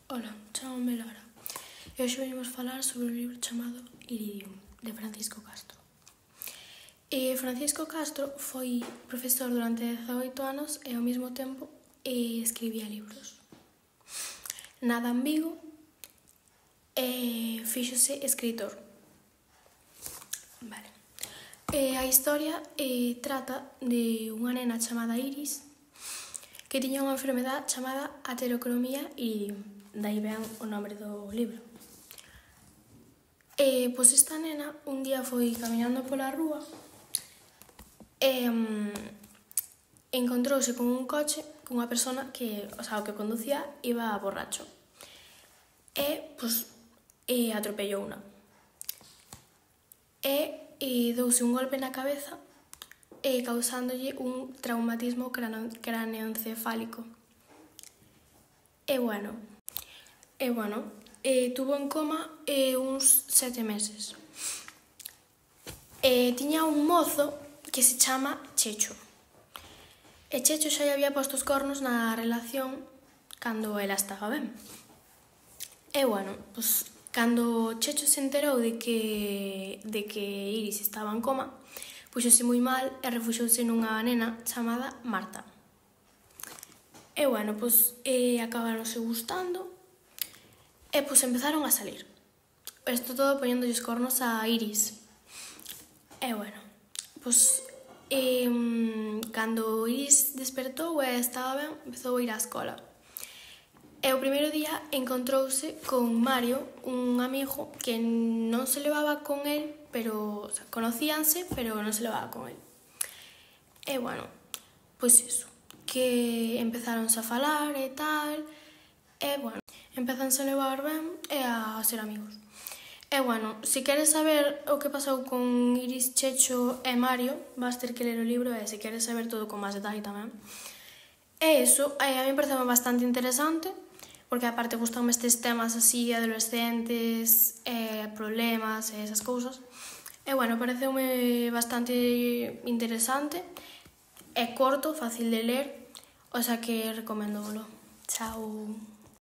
Ola, chamame Lara e hoxe venimos falar sobre un libro chamado Iridium, de Francisco Castro. Francisco Castro foi profesor durante 18 anos e ao mesmo tempo escribía libros. Nada en Vigo e fíxose escritor. Vale. A historia trata de unha nena chamada Iris que tiña unha enfermedade chamada aterocromía iridium, daí ven o nome do libro. Pois esta nena un día foi camiñando pola rúa e encontrouse con un coche cunha persona que, o que conducía iba borracho e, atropellouna e douse un golpe na cabeza causándolle un traumatismo craneoencefálico. Tuvo en coma uns 7 meses. Tiña un mozo que se chama Checho. E Checho xa lle había posto os cornos na relación cando ela estaba ben. Cando Checho se enterou de que Iris estaba en coma, puxose moi mal e refuxouse nunha nena chamada Marta. Acabáronse gustando e empezaron a salir. Isto todo poñéndolle os cornos a Iris. Cando Iris despertou e estaba ben, empezou a ir á escola. E o primeiro día encontrouse con Mario, un amigo que non se levaba con el, conocíanse, pero non se levaba con el. Que empezáronse a falar e tal, empezanse a levar ben e a ser amigos. Se queres saber o que pasou con Iris, Checho e Mario, vas ter que ler o libro e se queres saber todo con máis detalle tamén. A mí pareceu bastante interesante, porque aparte gustanme estes temas así, adolescentes, problemas e esas cousas. Pareceume bastante interesante, é corto, fácil de ler, que recomendólo. Chao.